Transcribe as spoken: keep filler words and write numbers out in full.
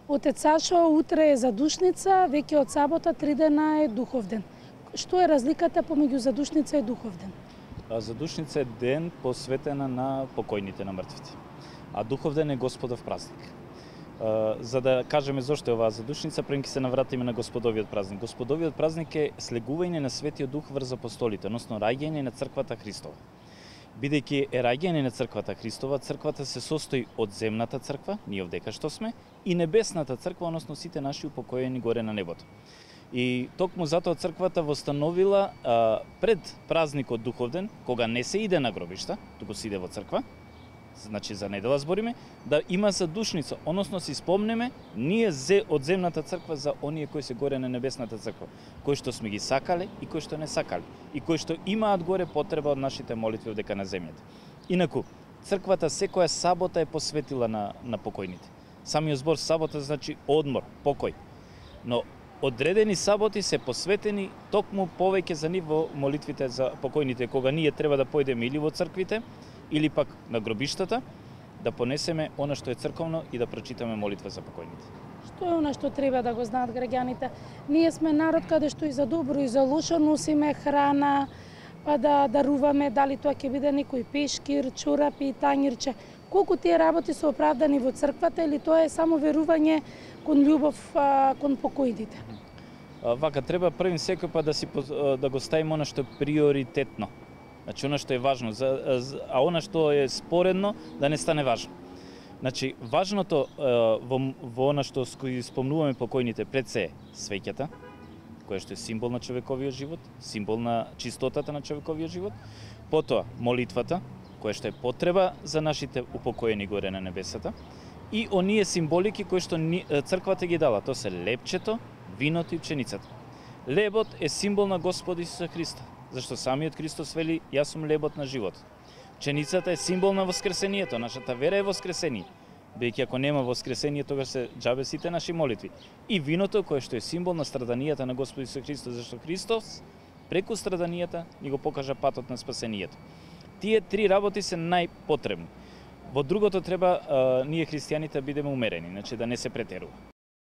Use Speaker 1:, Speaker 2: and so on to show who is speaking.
Speaker 1: Отец Сашо, утре е задушница, веќе од сабота три дена е духов ден. Што е разликата помеѓу задушница и духов ден?
Speaker 2: Задушница е ден посветена на покојните, на мртвите. А духов ден е Господов празник. За да кажеме зошто е оваа задушница, прем ќе се навратиме на Господовиот празник. Господовиот празник е слегување на Светиот Дух врз апостолите, односно раѓање на црквата Христова. Бидејќи е раѓање на црквата Христова, црквата се состои од земната црква, ние овдека што сме, и небесната црква, односно сите наши упокоени горе на небото. И токму затоа црквата востановила а, пред празникот Духовден, кога не се иде на гробишта, туку се иде во црква, значи за недела збориме, да има задушница, односно си спомнеме ние зе од земната црква за оние кои се горе на небесната црква, кои што сме ги сакале и кои што не сакале, и кои што имаат горе потреба од нашите молитви одека на земјата. Инаку, црквата секоја сабота е посветила на, на покојните. Самиот збор сабота значи одмор, покој. Но одредени саботи се посветени токму повеќе за нив во молитвите за покојните, кога ние треба да појдеме или во црквите, или пак на гробиштата, да понесеме она што е црковно и да прочитаме молитва за покојните.
Speaker 1: Што е она што треба да го знаат граѓаните? Ние сме народ каде што и за добро и за лошо носиме храна, па да даруваме, дали тоа ќе биде некој пешкир, чорапи, тањирче. Колку тие работи се оправдани во црквата или тоа е само верување кон љубов а, кон покојните?
Speaker 2: Вака треба првин секој па да си да го ставиме она што е приоритетно. Значи, она што е важно, а она што е споредно, да не стане важно. Значи, важното во, во она што спомнуваме покојните пред се свеќата, која што е символ на човековиот живот, символ на чистотата на човековиот живот, потоа молитвата, која што е потреба за нашите упокоени горе на небесата, и оние символики кои што црквата ги дала, тоа се лепчето, виното и пченицата. Лебот е символ на Господ Исуса Христа, зашто самиот Христос вели, јас сум лебот на живот. Пченицата е символ на воскресението, нашата вера е воскресение. Бидејќи ако нема воскресение, тогаш се џабе сите наши молитви. И виното кое што е символ на страданијата на Господ Исус Христос, зашто Христос преку страданијата ни го покажа патот на спасението. Тие три работи се најпотребни. Во другото треба а, ние христијаните бидеме умерени, значи да не се претерува.